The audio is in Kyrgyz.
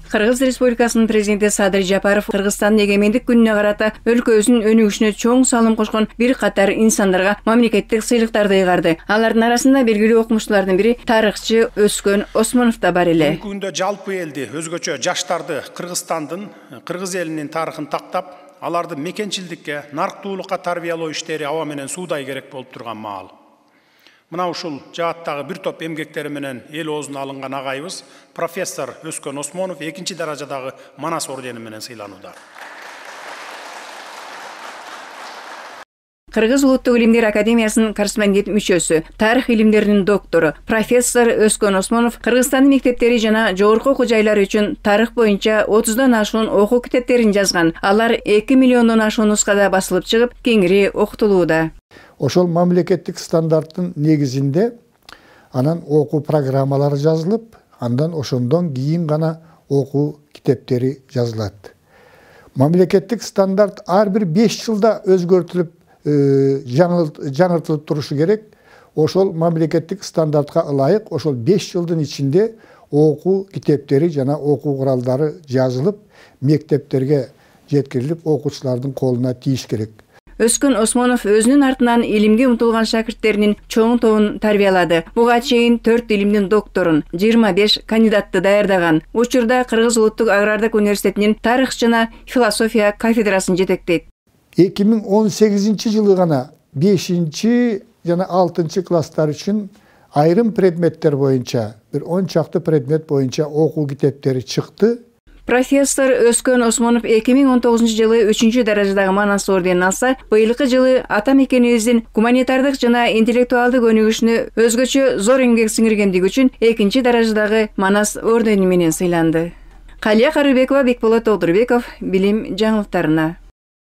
Кыргыз Республикасынын президенти Садыр Жапаров Кыргызстандын эгемендик күнүнө карата өлкөбүздүн өнүгүшүнө чоң салым кошкон бир катар инсандарга мамлекеттик сыйлыктарды ыйгарды. Алардын арасында белгилүү окумуштуулардын бири тарыхчы Өскөн Осмонов да бар эле. Бүгүндө жалпы элди, өзгөчө жаштарды Кыргызстандын, кыргыз элинин тарыхын тактап, аларды мекенчилдикке, нарктуулукка тарбиялоо иштери аба менен суудай керек болуп турган маал. Мына ушул жааттагы бир топ эмгектери менен эл оозуна алынган агайыбыз профессор Өскөн Осмонов 2-чи даражадагы Манас ордени менен сыйланууда. Кыргыз Улуттук илимдер академиясынын корреспондент мүчөсү, тарых илимдеринин доктору профессор Өскөн Осмонов Кыргызстандын мектептери жана жогорку окуу жайлары үчүн тарых боюнча 30дан ашуун окуу китептерин жазган. Алар 2 миллиондон ашуун нускада басылып чыгып, кеңири окутулууда. Ошол мамлекеттик стандарттын негизинде анан окуу программалары жазылып, андан ошондон кийин гана окуу китептери жазылат. Мамлекеттик стандарт ар бир 5 жылда өзгөртүлүп, жаңыртылып турушу керек. Ошол мамлекеттик стандартка ылайык ошол 5 жылдын ичинде окуу китептери жана окуу куралдары жазылып, мектептерге жеткирилип, окуучулардын колуна тийиш керек. Өскөн Осмонов өзүнүн артынан илимге умтулган шакирттеринин чоң тобун тарбиялады. Буга чейин 4 илимдин докторун, 25 кандидатты даярдаган. Учурда Кыргыз Улуттук агрардык университетинин тарых жана философия кафедрасын жетектейт. 2018-жылы гана 5 жана 6 класстар үчүн айрым предметтер боюнча, бир 10 чакты предмет боюнча окуу китептери чыкты. Профессор Өскөн Осмонов 2019-жылы 3-чү даражадагы Манас орденин алса, быйылкы жылы ата мекенибиздин гуманитардык жана интеллектуалдык өнүгүшүнө өзгөчө зор эмгек сиңиргендиги үчүн 2-чи даражадагы Манас ордени менен сыйланды. Калия Карыбекова, Бекболот Олдурбеков, билим жаңылыктарына.